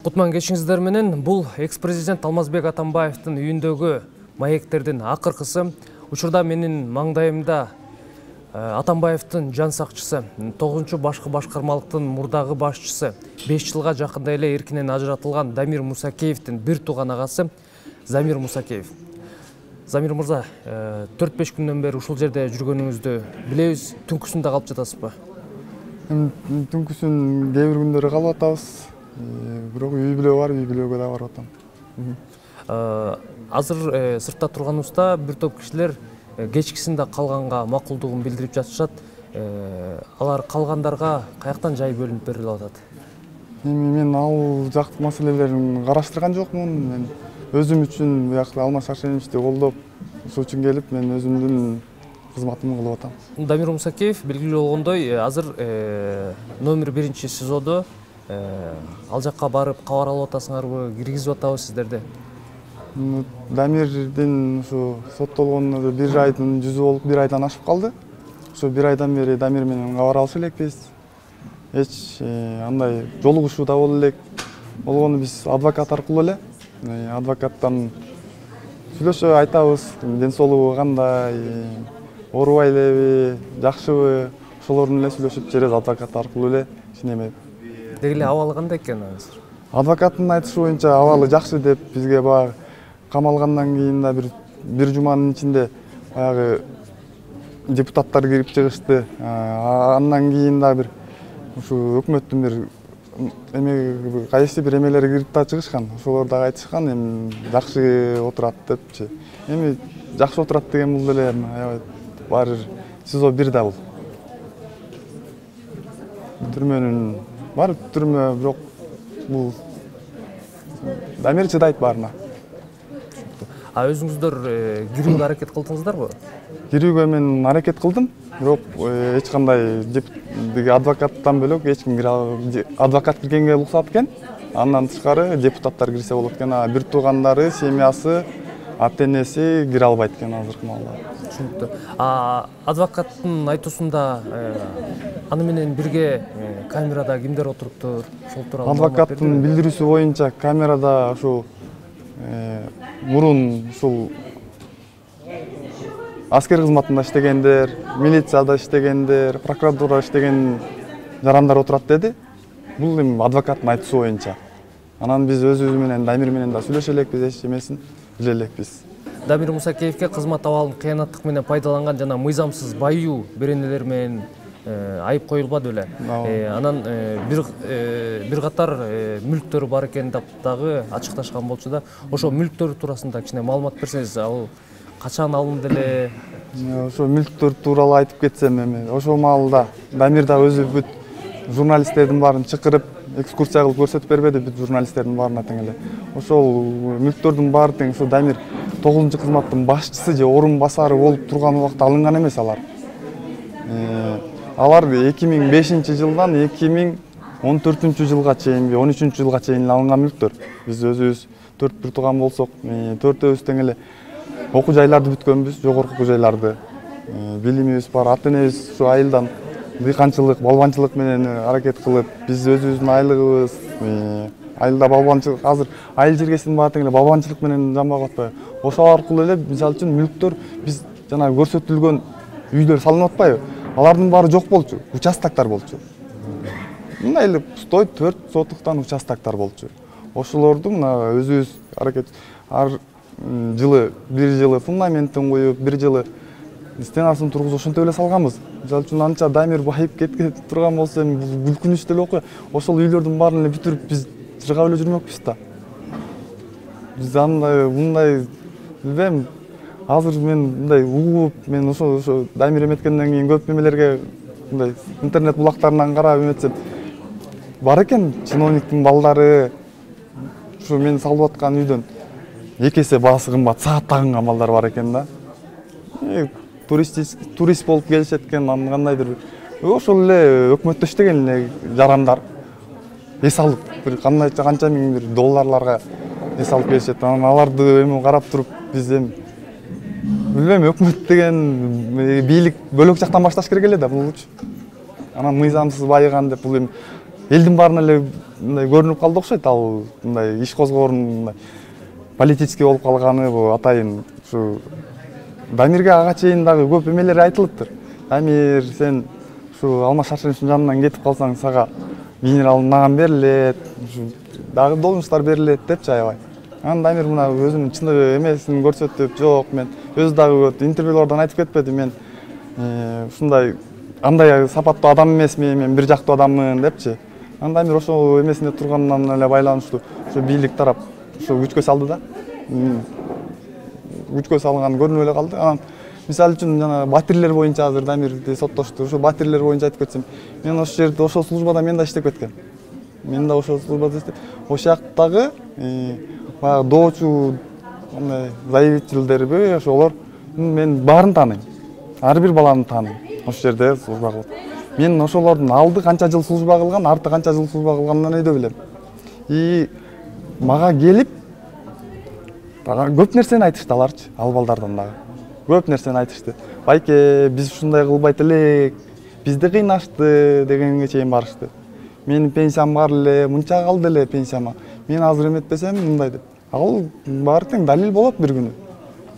Кутман кечиңиздер менен бул экс-президент Алмазбек Атамбаевдин үйүндөгү маектердин акыркысы. Учурда менин маңдайымда Атамбаевдин жан сакчысы, 9-башкы башкармалыктын мурдагы башчысы, 5 жылга жакында эле эркинен ажыратылган Дамир Мусакеевдин бир тууган агасы Замир Мусакеев. Замир мырза, 4-5 күндөн бери ушул жерде жүргөнүңүздү билебиз. Түнкүсүндө калып жатасызбы? Түнкүсүн кээ бир күндөрү калып атабыз. Бирок үй бүлө бар, үй бүлөгө да барып атам. Азыр сыртта турганыбызда бир топ кишилер кечкисинде калганга макулдугун билдирип жатышат. Алар калгандарга каяктан жай бөлүнүп берилип атат? Мен ал жактын маселелерин караштырган жокмун. Мен өзүм үчүн биякта Алмаз Шаршеновичти колдоп, ошол үчүн келип, мен өзүмдүн кызматымды кылып атам. Дамир Мусакеев белгилүү болгондой, азыр номер 1 СИЗОдо. Ал жакка барып кабар алып атасыңарбы, киргизип атабы сиздерди? Дамирдин ушу соттолгонуна 1 айдын жүзү болуп, 1 айдан ашып калды. Ошо 1 айдан бери Дамир менен кабар алыша элекпиз. Эч андай жолугушуу да боло элек. Болгону биз адвокат аркылуу эле, адвокаттан сүйлөшүп айтабыз, ден соолугу кандай, оорубай элеби, жакшыбы, ошолордун эле сүйлөшүп через адвокат аркылуу эле кичине деги эле абалы кандай экен азыр? Адвокаттын айтышы боюнча абалы жакшы деп, бизге баягы камалгандан кийин да бир жуманын ичинде баягы депутаттар кирип чыгышты. Андан кийин да бир ушу өкмөттүн бир кайсы бир эмелери кирип да чыгышкан. Ошолор дагы айтышкан, эми жакшы отурат депчи. Эми жакшы отурат деген бул деле баары СИЗО 1 да бул. Түрмөнүн бар түрмө, бирок бул Дамир чыдайт баарына. Өзүңүздөр кирүүгө аракет кылдыңыздарбы? Кирүүгө мен аракет кылдым, бирок эч кандай адвокаттан бөлөк эч ким кире албады. Адвокат киргенге уруксат экен. Андан тышкары депутаттар кирсе болот экен. Бир туугандары, семьясы, ата-энеси кире албайт экен азыркы маалда. Түшүнүктүү. Адвокаттын айтуусунда аны менен бирге камерада кимдер отуруптур? Ошол тууралуу адвокаттын билдирүүсү боюнча камерада ушул мурун ушул аскер кызматында иштегендер, милицияда иштегендер, прокуратурада иштеген жарандар отурат деди. Бул эми адвокаттын айтуусу боюнча. Анан биз өзүбүз менен Дамир менен да сүйлөшө элекпиз, эч эмесин биле элекпиз. Дамир Мусакеевке кызмат абалын кыянаттык менен пайдаланган жана мыйзамсыз баюу беренелер менен айып коюлбады беле. Анан бир катар мүлктөр бар экен деп дагы ачыкташкан болчу да. Ошо мүлктөр туурасында кичине маалымат берсеңиз, ал качан алынды эле? Ошо мүлктөр тууралуу айтып кетсем, эми ошол маалда Дамир да өзү бүт журналисттердин баарын чакырып экскурсия кылып көрсөтүп бербеди, бүт журналисттердин баарына тең эле. Ошол мүлктөрдүн баары тең ошо Дамир 9-кызматтын башчысы же орун басары болуп турган убакта алынган эмес алар. Алар 2005-жылдан 2014 жылга чейинби, 13 жылга чейин алынган мүлктөр. Биз өзүбүз 4 бир тууган болсок, 4-өөбүз тең эле окуу жайларды бүткөнбүз, жогорку окуу жайларды. Билимибиз бар, ата-энебиз ушу айылдан дыйканчылык, балбанчылык менен аракет кылып, биз өзүбүздүн айлыгыбыз, айылда балбанчылык, азыр айыл жергесинин баары тең эле балбанчылык менен жамбап атпайбы? Ошол аркылуу эле мисалы үчүн мүлктөр биз жана көрсөтүлгөн үйлөр салынып атпайбы? Алардын баары жок болчу, участоктор болчу. Мындай эле пустой 4 сотуктан участоктор болчу. Ошолорду мына өзүбүз аракет ар жылы, бир жылы фундаментин коюп, бир жылы стенасын тургузуп ошентип эле салганбыз. Мисалы үчүн анча Дамир байып кеткен турган болсо, эми күлкүнүчтүү эле окуя. Ошол үйлөрдүн баарын эле бүтүрүп биз чыргап эле жүрмөкпүз да. Биз андай мындай билбейм. Азыр мен мындай угуп, мен ошо Дамир эметкенден кийин көп эмелерге мындай интернет булактарынан карап эметсем бар экен чиновниктин балдары ушу мен салып аткан үйдөн 2 эсе баасы кымбат саат тагынган балдар бар экен да. Турист болуп келишет экен, кандайдыр ошол эле өкмөттө иштеген эле жарандар эс алып бир канча миң бир долларларга эс алып келишет. Анан аларды эми карап туруп биз эми билбейм, өкмөт деген бийлик бөлөк жактан башташ керек эле да булчу. Анан мыйзамсыз байыган деп бул эми элдин баарына эле мындай көрүнүп калды окшойт. Ал мындай иш козгоорун мындай политический болуп калганы бул атайын ушу Дамирге ага чейин дагы көп эмелер айтылыптыр. Дамир, сен ушу Алмаз Шаршеновичтин жанынан кетип калсаң сага генерал наган берилет, ушу дагы должносттар берилет депчи аябай. Анан Дамир мына өзүнүн чындыгы эмесин көрсөтүп, жок мен өзү дагы интервьюлардан айтып кетпеди, мен ушундай андай сапаттуу адам эмесмин, мен бир жактуу адаммын депчи. Анан Дамир ошол эмесинде тургандан эле байланыштуу ушу бийлик тарап ушу күчкө салды да. Күчкө салган көрүнүп эле калды. Анан мисалы үчүн жана батирлер боюнча азыр Дамирди соттошту. Ошо батирлер боюнча айтып кетсем, мен ошол жерде ошол службада мен да иштеп кеткем. Мен да ошол службада иштеп, ошол жактагы баягы доочу андай заявителдерби ошолор мен баарын тааныйм. Ар бир баланы тааныйм. Ошол жерде служба кылып. Мен ошолордун алды канча жыл служба кылган, арты канча жыл служба кылганын өйдө билем. И мага келип көп нерсени айтышты аларчы, ал балдардан дагы. Көп нерсени айтышты. Байке, биз ушундай кылбайт элек, бизди кыйнашты дегенге чейин барышты. Менин пенсиям бар эле, мынча калды эле пенсияма. Мен азыр эметпесем мындай деп. Ал баары тең далил болот бир күнү.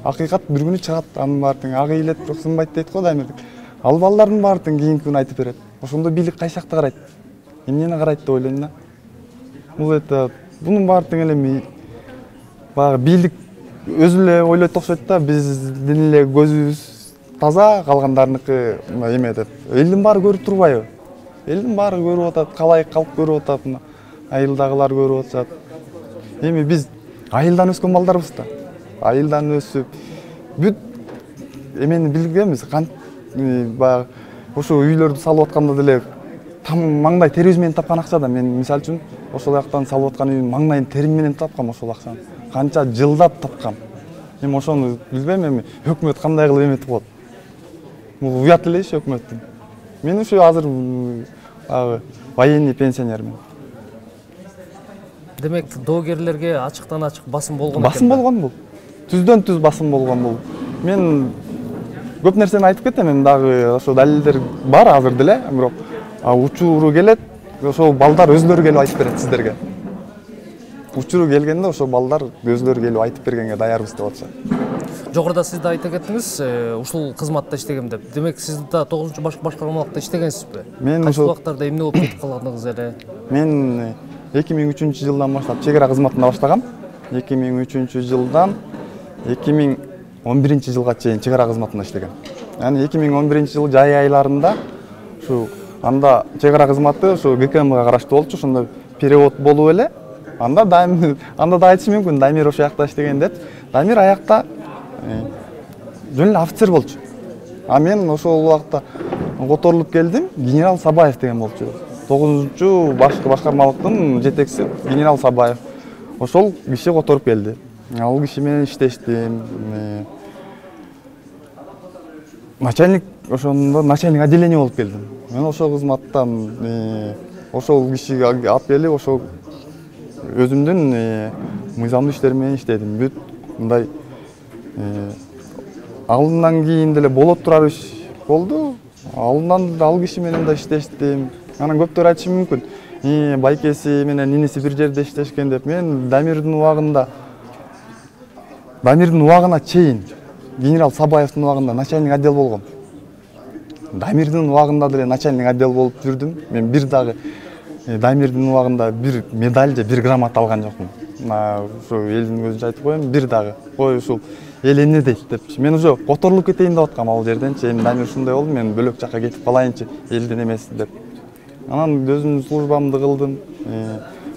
Акыйкат бир күнү чыгат, анын баары тең ак ыйлет бирок сынбайт дейт го Дамир. Ал балдардын баары тең кийинки күнү айтып берет. Ошондо бийлик кайсы жакта карайт? Эмнени карайт деп ойлойм да. Бул бунун баары тең эле баягы бийлик өзү эле ойлойт окшойт да, биздин эле көзүбүз таза, калгандарыныкы эме деп. Элдин баары көрүп турбайбы? Элдин баары көрүп атат, калай калк көрүп атат, айылдагылар көрүп атышат. Эми биз айылдан өскөн балдарбыз да. Айылдан өсүп, бүт эмени билгенбиз. Баягы ошо үйлөрдү салып атканда деле маңдай терибиз менен тапкан акча да. Мен мисалы үчүн ошол жактан салып аткан үйдүн маңдайын терим менен тапкам ошол акчаны. Канча жылдап тапкам. Эми ошону билбейм, эми өкмөт кандай кылып эметип коет. Бул уят эле иш өкмөттүн. Мен ушу азыр военный пенсионермин. Демек, доогерлерге ачыктан ачык басым болгон экен. Басым болгон бул. Түздөн түз басым болгон бул. Мен көп нерсени айтып кетем, эми дагы ошо далилдер бар азыр деле, бирок учуру келет, ошол балдар өзлөрү келип айтып берет сиздерге. Учуру келгенде ошол балдар өзлөрү келип айтып бергенге даярбыз деп атышат. Жогоруда сиз да айта кеттиңиз, ушул кызматта иштегем деп. Демек, сиз да 9-башкармалыкта иштегенсизби? Мен ошол убактарда эмне болуп кетип калгандыгыңыз эле? Мен 2003-жылдан баштап чек ара кызматында баштагам. 2003-жылдан 2011-жылга чейин чек ара кызматында иштегем. Яны 2011-жыл жай айларында ушу анда чек ара кызматы ушу ГКМга караштуу болчу, ошондо перевод болуп эле. Анда да айтышы мүмкүн, Дамир ошол жакта иштеген деп. Дамир аякта жөн эле офицер болчу. А мен ошол убакта которулуп келдим, генерал Сабаев деген болчу. 9-башкармалыктын жетекчиси генерал Сабаев. Ошол киши которуп келди. Ал киши менен иштештим. Начальник, ошондо начальник отделение болуп келдим. Мен ошол кызматтан ошол кишиге алып келип, ошол өзүмдүн мыйзамдуу иштерим менен иштедим. Бүт мындай алдынан кийин деле болот турар иш болду. Алдынан ал киши менен да иштештим. Анан көптөр айтышы мүмкүн, байкеси менен иниси бир жерде иштешкен деп. Мен Дамирдин убагына чейин генерал Сабаевдин убагында начальник отдел болгом. Дамирдин убагында деле начальник отдел болуп жүрдүм. Мен бир дагы Дамирдин убагында бир медаль же бир грамота алган жокмун. Ушу элдин көзүнчө айтып коем, бир дагы. Ой, ушул эл эмне дейт депчи. Мен уже которулуп кетейин деп аткам ал жерденчи. Эми Дамир ушундай болду, мен бөлөк жакка кетип калайынчы, элдин эмеси деп. Анан өзүмдүн службамды кылдым.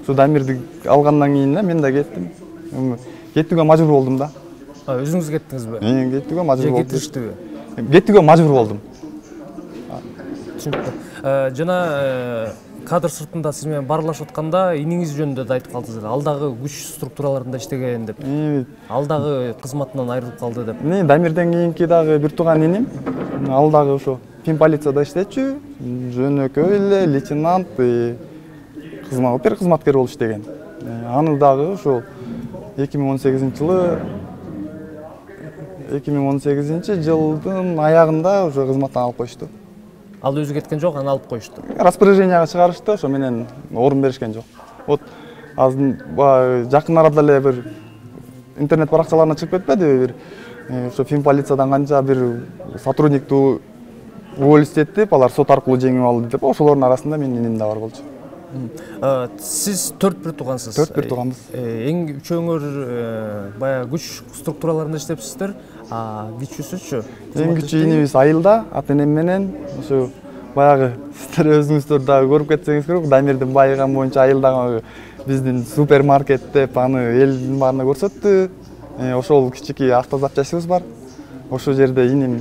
Ушу Дамирди алгандан кийин мен да кеттим. Кетүүгө мажбур болдум да. Өзүңүз кеттиңизби? Мен кетүүгө мажбур болдум. Кетириштиби? Кетүүгө мажбур болдум. Түшүнүктүү. Жана кадр сыртында сиз менен баарлашып атканда иниңиз жөнүндө да айтып калдыңыз. Ал дагы күч структураларында иштеген деп. Ал дагы кызматынан айрылып калды деп. Дамирден кийинки дагы бир тууган иним. Ал дагы ошо финполицияда иштечү, жөнөкөй эле лейтенант, кызматкер болуп иштеген. Аны дагы ошол 2018-жылдын аягында уже кызматтан алып коюшту. Ал өзү кеткен жок, аны алып коюшту. Распоряженияга чыгарышты, ошо менен орун беришкен жок. Вот азыр жакын арада эле бир интернет баракчаларына чыгып кетпедиби, бир ошо Финполициядан канча бир сотрудникту уволить алар сот аркылуу жеңип алды деп, ошолордун арасында менин иним да бар болчу. Сиз 4 бир туугансыз. 4 бир тууганбыз. Эң үчөөңөр баягы күч структураларында иштепсиздер, кичүүсүчү? Эң кичүү инибиз Айылда, ата-энем менен, ошо баягы сиздер өзүңүздөр дагы көрүп кетсеңиз керек, Дамирдин байыган боюнча Айылдагы биздин супермаркет деп аны элдин баарына көрсөттү. Ошол кичинекей автозапчастьыбыз бар. Ошол жерде иним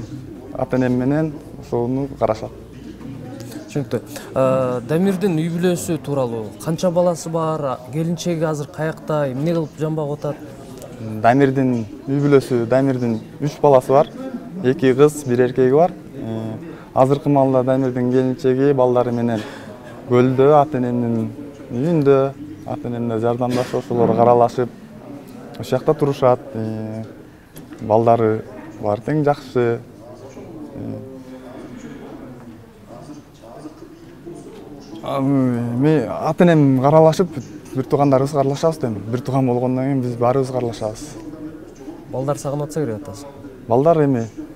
ата-энем менен ошону карашат. Түшүнүктүү. Дамирдин үй бүлөсү тууралуу канча баласы бар? Келинчеги азыр каякта? Эмне кылып жамбап атат? Дамирдин үй бүлөсү, Дамирдин 3 баласы бар. 2 кыз, 1 эркеги бар. Азыркы маалда Дамирдин келинчеги балдары менен көлдө, ата-энемдин үйүндө, ата-энемге жардамдашып, ошолор каралашып, ошол жакта турушат. Балдары бар, тең жакшы. Ата-энем каралашып, бир туугандарыбыз каралашабыз дейм. Бир тууган болгондон кийин биз баарыбыз каралашабыз. Балдар сагынып атса керек атасы. Балдар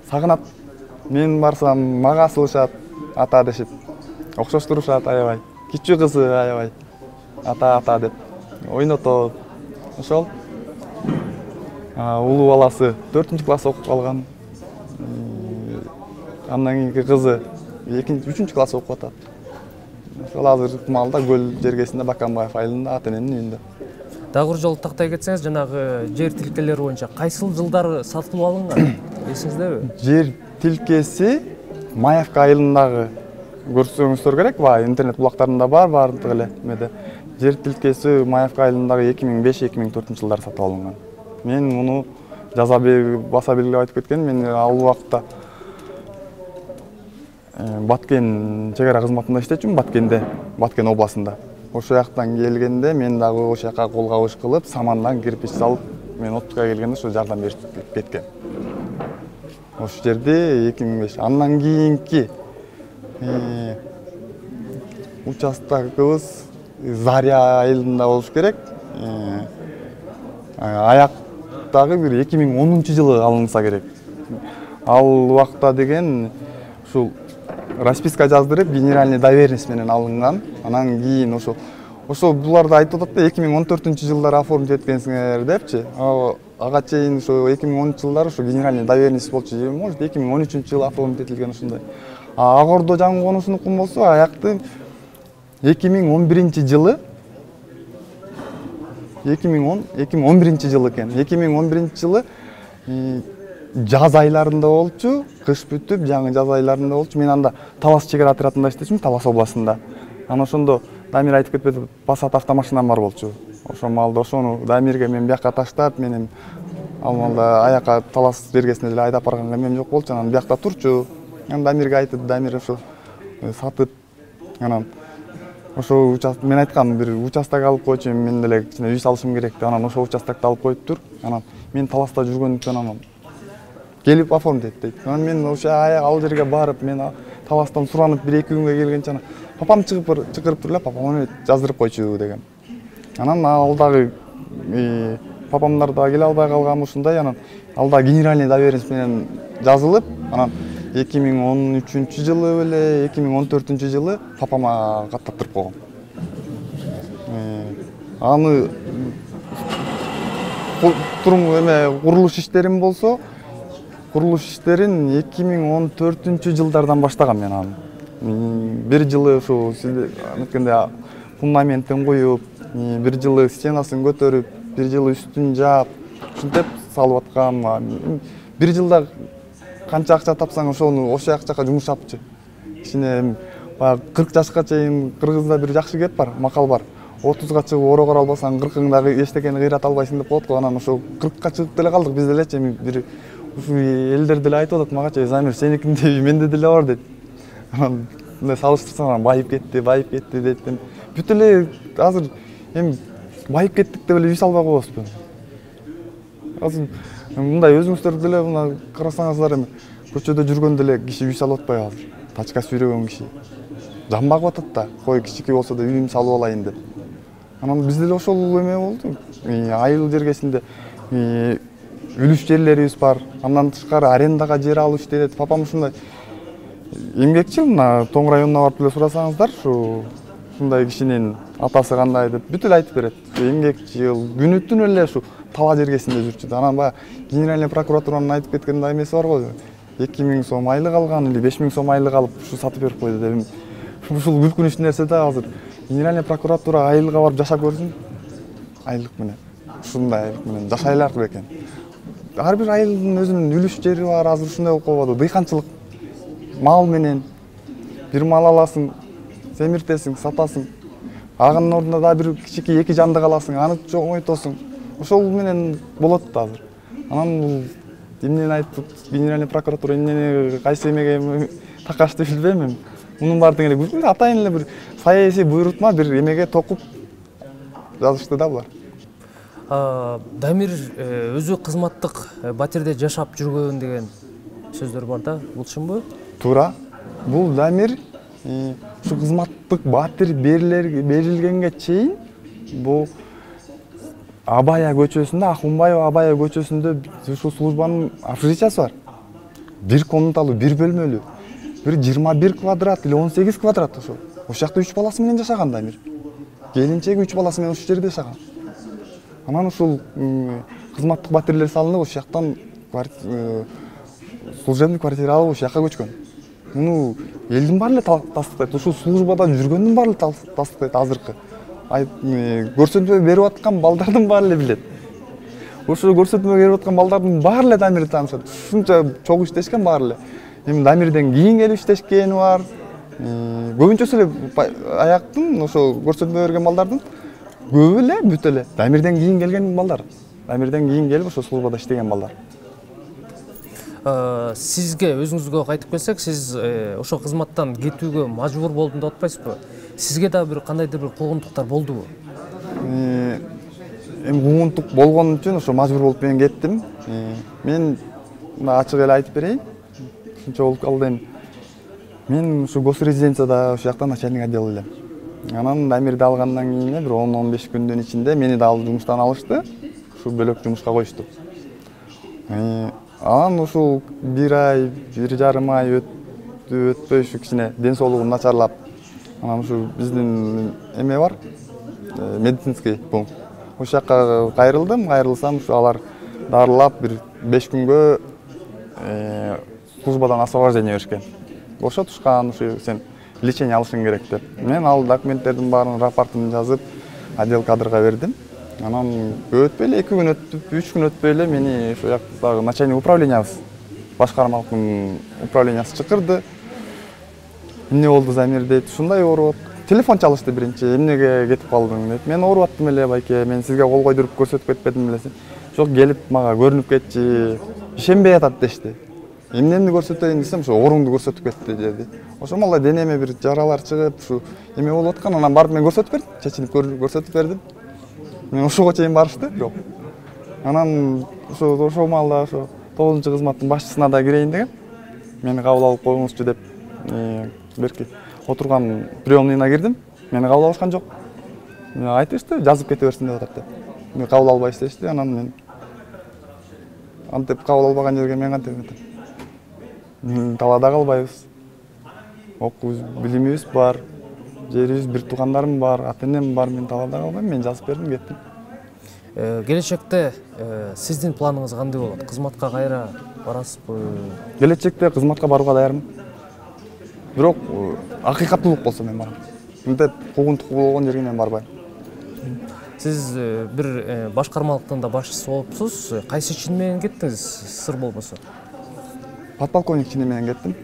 сагынат. Мен барсам мага асылышат, ата дешип. Окшош турушат аябай. Кичүү кызы аябай ата деп ойнотот. Ошол. Улуу баласы 4-класс окуп калган. Андан кийинки кызы 3-класс окуп атат. Ошол азыркы маалда көл жергесинде Баканбаев айылында ата-энемдин үйүндө. Дагы бир жолу тактай кетсеңиз, жанагы жер тилкелери боюнча кайсыл жылдары сатылып алынган? Эсиңиздеби? Жер тилкеси Маевка айылындагы көрсөңүздөр керек, интернет булактарында бар, бардык эле эмеде. Жер тилкеси Маевка айылындагы 2005-2004 жылдары сатып алынган. Мен муну баса белгилеп айтып кеткен, мен ал убакта Баткен чегара кызматында иштечүмүн, Баткен областында. Ошол жактан келгенде мен дагы ошол жака кол кабыш кылып, самандан кирпич салып, мен отпускага келгенде ошо жардам берип кеткен. Ошол жерде 2005. Андан кийинки участогыбыз Заря айылында болуш керек. Аяктагы бир 2010 жылы алынса керек. Ал убакта деген ушул расписка жаздырып, генеральный доверенность менен алынган. Анан кийин ошол буларды айтып атат да 2014 жылдары оформить эткенсиңер депчи. Ага чейин ошо 2010 жылдары ошо генеральный доверенность болчу. Может 2013 жылы оформить этилген ушундай. Агордо жаңы конусунукун болсо аякты 2011 жылы 2011 жылы экен. 2011 жылы жаз айларында болчу, кыш бүтүп, жаңы жаз айларында болчу. Мен анда Талас чегара отрядында иштечүмүн, Талас областында. Анан ошондо Дамир айтып кетпеди, Passat автомашинам бар болчу. Ошол маалда ошону Дамирге мен бияка таштап, менин ал маалда аяка Талас бергесине деле айдап барганга эмем жок болчу. Анан биякта турчу. Анан Дамирге айтып, Дамир ошо сатып, анан ошо мен айткам, бир участок алып койчу, мен деле кичине үй салышым керек деп. Анан ошол участокду алып коюптур. Анан мен Таласта жүргөндүктөн анан келип оформить эт дейт. Анан мен ошо ал жерге барып, мен Таластан суранып 1-2 күнгө келгенче анан папам чакырып туруп эле, папам жаздырып койчу деген. Анан ал дагы папамдар дагы келе албай калган ушундай. Анан ал дагы генеральный доверенность менен жазылып, анан 2013 жылы беле, 2014 жылы папама каттаптырып койгон. Аны курулуш иштерим болсо, курулуш иштерин 2014 жылдардан баштагам мен аны. Бир жылы ушу сиздер фундаментин коюп, бир жылы стенасын көтөрүп, бир жылы үстүн жаап, ушинтип салып аткам. Бир жылда канча акча тапсаң ошону ошол акчага жумшапчы. Кичине 40 жашка чейин Кыргызда бир жакшы кеп бар, макал бар. 30га чыгып орогор албасаң 40-ыңдагы эчтекени кыйрата албайсың деп коет го. Анан ошо 40ка чыгып деле калдык биз делечи. Бир ушу элдер деле айтып атат магачы, Замир сеникинде менде деле бар дейт. Анан салыштырсаң байып кетти дейт. Бүт эле азыр байып кеттик деп эле үй салбай коебузбу? Азыр мындай өзүңүздөр деле мына карасаңыздар көчөдө жүргөндө эле киши үй салып атпайбы азыр? качка сүйрөгөн киши. Жан багып атат да, кой кичике болсо да үйүм салып алайын деп. Анан бизде деле ошол эме болду. Айыл жергесинде үлүш жерлерибиз бар. Андан тышкары арендага жер алып иштейт. Папам ушундай эмгекчил, мына Тоң районуна барып эле сурасаңыздар, ушундай кишинин атасы кандай деп бүт эле айтып берет. Эмгекчил, күнү түн эле ушу тала жергесинде жүрчү. Анан баягы генеральный прокуратуранын айтып кеткен эмеси бар го. 2000 сом айлык алган или 5000 сом айлык алып ушу сатып берип койду деп. Ушул күлкүнүчтүү нерсе да азыр. Генеральный прокуратура айылга барып жашап көрсүн. Айлык менен. Ушундай айлык менен жашайлар экен. Ар бир айылдын өзүнүн үлүш жери бар, азыр ушундай болуп калбады. Дыйканчылык мал менен бир мал аласың, семиртесиң, сатасың. Агынын ордуна да бир кичике 2 жандык аласың, аны чоңойтосуң. Ошол менен болот да азыр. Анан бул эмнени айтып, генеральный прокуратура эмнени кайсы эмеге такашты билбейм. Мунун баардыгы эле күлкү, атайын эле бир саясий буйрутма бир эмеге токуп жазышты да булар. Дамир өзү кызматтык батирде жашап жүргөн деген сөздөр бар да, бул чынбы? Туура. Бул Дамир ушу кызматтык батир берилгенге чейин бул Абая көчөсүндө, Акунбаева Абая көчөсүндө ушул службанын общежитиясы бар. Бир комнаталуу, бир бөлмөлүү. Бир 21 квадрат или 18 квадрат ошол. Ошол жакта 3 баласы менен жашаган Дамир. Келинчеги 3 баласы менен ушул жерде жашаган. Анан ушул кызматтык батирлер салынып, ошол жактан служебный квартира алып ошол жакка көчкөн. Муну элдин баары эле тастыктайт. Ушул службада жүргөндүн баары эле тастыктайт азыркы. Көрсөтмө берип аткан балдардын баары эле билет. Ошо көрсөтмө берип аткан балдардын баары эле Дамирди таанышат. Ушунча чогуу иштешкен баары эле. Эми Дамирден кийин келип иштешкени бар. Көбүнчөсү эле аяктын ошо көрсөтмө берген балдардын көбү эле бүт эле Дамирден кийин келген балдар. Дамирден кийин келип ошо службада иштеген балдар. Сизге өзүңүзгө кайтып келсек, сиз ошо кызматтан кетүүгө мажбур болдум деп атпайсызбы? Сизге да бир кандайдыр бир куугунтуктар болдубу? Эми куугунтук болгон үчүн ошо мажбур болуп мен кеттим. Мен ачык эле айтып берейин. Ушунча болуп калды эми. Мен ушу госрезиденцияда ошол жакта начальник отдел элем. Анан Дамирди алгандан кийин бир 10-15 күндүн ичинде мени да алып жумуштан алышты. Ушу бөлөк жумушка коюшту. Анан ушул 1 ай, 1,5 ай өтпөй ушу кичине ден соолугум начарлап, анан ушу биздин эме бар, медицинский пункт. Ошол жакка кайрылдым, кайрылсам ушу алар дарылап бир 5 күнгө службадан освобождение беришкен. Бошотушкан, ушу сен лечение алышың керек деп. Мен ал документтердин баарын рапортун жазып, отдел кадрга бердим. Анан өтпөй эле 2 күн өтүп, 3 күн өтпөй эле мени ошол жактагы начальник управлениябыз, башкармалыктын управлениясы чакырды. Эмне болду Замир дейт, ушундай ооруп, телефон чалышты биринчи, эмнеге кетип калдың дейт. Мен ооруп аттым эле байке, мен сизге кол койдуруп көрсөтүп кетпедим белеси. Жок, келип мага көрүнүп кетчи, ишенбей атат дешти. Эмнени көрсөтөйүн десем, ошо ооруңду көрсөтүп кетти деди. Ошо мала денеме бир жаралар чыгып, ушу эме болуп аткан, анан барып мен көрсөтүп бердим, чечинип көрсөтүп бердим. Мен ошого чейин барышты, бирок. Анан ошол маалда ошо 9-кызматтын башчысына да кирейин деген. Мени кабыл алып коюңузчу деп, берки отурган приемныйына кирдим. Мени кабыл алышкан жок. Айтышты, жазып кете берсин деп атат деп. Мени кабыл албайсыз дешти, анан мен антип кабыл албаган жерге мен кантип кетем. Талаада калбайбыз. Окуу билимибиз бар, жерибиз, бир туугандарым бар, ата-энем бар, мен талаада калбайм, мен жазып бердим, кеттим. Келечекте сиздин планыңыз кандай болот? Кызматка кайра барасызбы? Келечекте кызматка барууга даярмын. Бирок акыйкаттуулук болсо мен барам. Мынтип куугунтук болгон жерге мен барбайм. Сиз бир башкармалыктын да башчысы болупсуз. Кайсы чин менен кеттиңиз, сыр болбосо? Подполковник чини менен кеттим.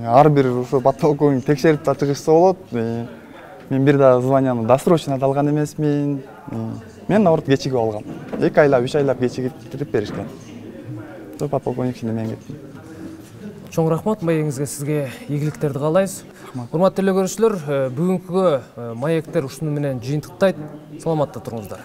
Ар бир ошо подполковник текшерип да чыгышса болот. Мен бир да званияны досрочно алган эмесмин. Мен наоборот кечигип алгам. 2 айлап, 3 айлап кечигип беришкен. Ошо подполковник чини менен кеттим. Чоң рахмат, маегиңизге сизге ийгиликтерди каалайбыз. Урматтуу көрүүчүлөр, бүгүнкүгө маектер ушуну менен жыйынтыктайт. Саламатта туруңуздар.